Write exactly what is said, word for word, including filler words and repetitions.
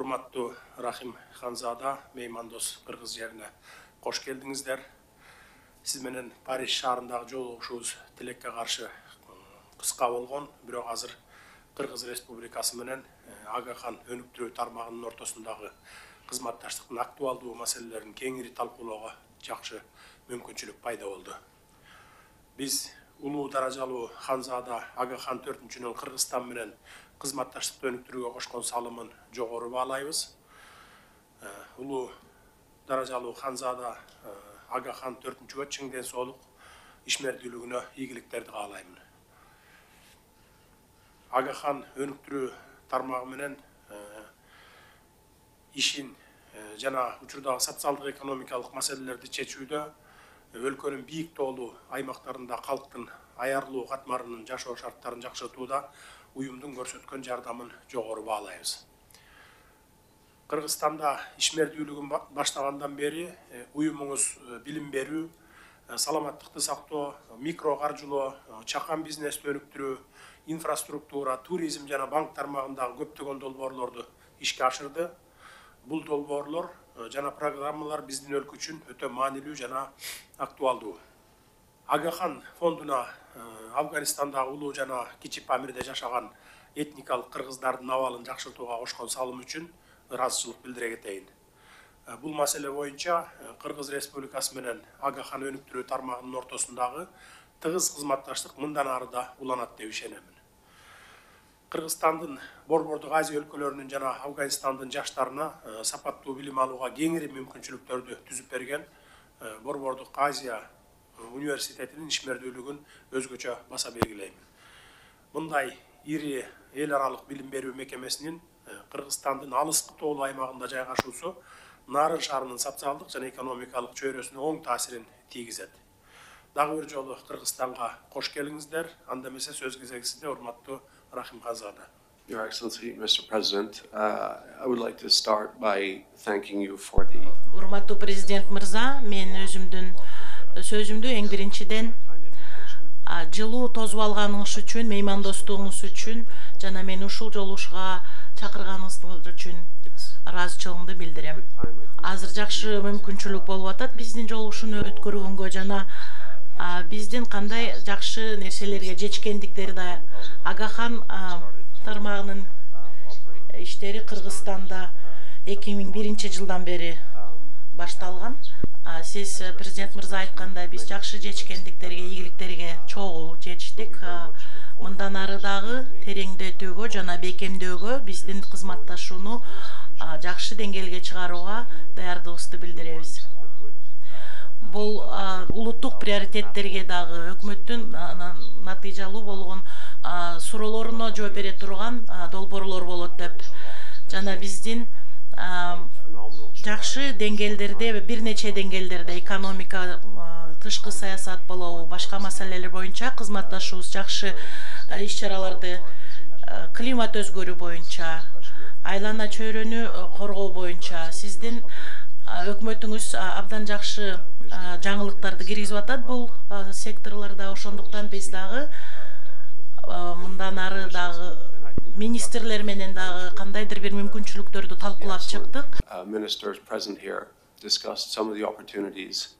Урматтуу Рахим Ханзада, меймандос кыргыз жерине кош келдиңиздер. Сиз менен Париж шаарындагы жолугушуубуз тилекке каршы кыска болгон, бирок азыр Кыргыз Республикасы менен Агахан өнүктүрүү тармагынын ортосундагы кызматташтыктын актуалдуу маселелерин кеңири талкуулоого жакшы мүмкүнчүлүк пайда болду. Биз улуу даражалуу Ханзада Агахан төртүнчүнүн Кыргызстан менен кызматташтыкты өнүктүрүүгө кошкон салымын жогору баалайбыз. Улуу даражалуу Ханзада Агахан төртүнчүгө чың ден соолук, ишмердүүлүгүнө ийгиликтерди каалаймын. Агахан өнүктүрүү тармагы менен ишин жана учурдагы социалдык экономикалык маселелерди чечүүдө өлкөнүн бийик тоолуу аймактарында калктын аярлуу катмарынын жашоо шарттарын жакшыртууда уюмдун көрсөткөн жардамын жогору баалайбыз. Кыргызстанда ишмердүүлүгүн баштагандан бери уюмуңуз билим берүү, саламаттыкты сактоо, микро каржылоо, чакан бизнести өнүктүрүү, инфраструктура, туризм жана банк тармагындагы көптөгөн долбоорлорду ишке ашырды. Бул долбоорлор жана программалар биздин өлкө үчүн өтө маанилүү жана актуалдуу. Агахан фондуна Афганистандагы улуу жана Кичи Памирде жашаган этникалык кыргыздардын абалын жакшыртууга кошкон салым үчүн ыраазычылык билдире кетейин. Бул маселе боюнча Кыргыз Республикасы менен Агахан өнүктүрүү тармагынын ортосундагы тыгыз кызматташтык мындан ары да уланат деп ишенемин. Кыргызстандын Борбордук Азия өлкөлөрүнүн жана Афганистандын жаштарына сапаттуу билим алууга кеңири мүмкүнчүлүктөрдү түзүп берген Борбордук Азия университетинин ишмердүүлүгүн өзгөчө баса белгилеймин. Мындай ири эл аралык билим берүү мекемесинин Кыргызстандын алыскы тоолуу аймагында жайгашуусу Нарын шаарынын социалдык жана экономикалык чөйрөсүнө оң таасирин тийгизет. Дагы бир жолу Кыргызстанга кош келиңиздер. Анда эмесе сөз кезеги сизде, урматтуу Рахим Ханзада. Your Excellency, Mister President, uh, I would like to start by thanking you for the... Урматтуу президент мырза, мен өзүмдүн сөзүмдү эң биринчиден жылуу тосуп алганыңыз үчүн, меймандостугуңуз үчүн жана мени ушул жолугушууга чакырганыңыз үчүн ыраазычылыгымды билдирем. Азыр жакшы мүмкүнчүлүк болуп атат биздин жолугушууну өткөргөнгө жана биздин кандай жакшы нерселерге жетишкендиктери да Агахан тармагынын иштери Кыргызстанда эки миң биринчи жылдан бери башталган. Сиз президент мырза айткандай, биз жакшы жетишкендиктерге, ийгиликтерге чогуу жетиштик. Мындан ары дагы тереңдетүүгө жана бекемдөөгө, биздин кызматташууну жакшы деңгээлге чыгарууга даярдыгыбызды билдиребиз. Бул улуттук приоритеттерге дагы өкмөттүн натыйжалуу болгон суроолоруна жооп бере турган долбоорлор болот деп жана биздин жакшы деңгээлдерде, бир нече деңгээлдерде экономика, тышкы саясат болобу, башка маселелер боюнча кызматташуубуз жакшы иш-чараларды, климат өзгөрүү боюнча, айлана чөйрөнү коргоо боюнча сиздин өкмөтүңүз абдан жакшы жаңылыктарды киргизип атат бул секторлордо. Ошондуктан биз дагы мындан ары дагы министрлер менен дагы кандайдыр бир мүмкүнчүлүктөрдү талкуулап чыктык. Ministers present here discussed some of the opportunities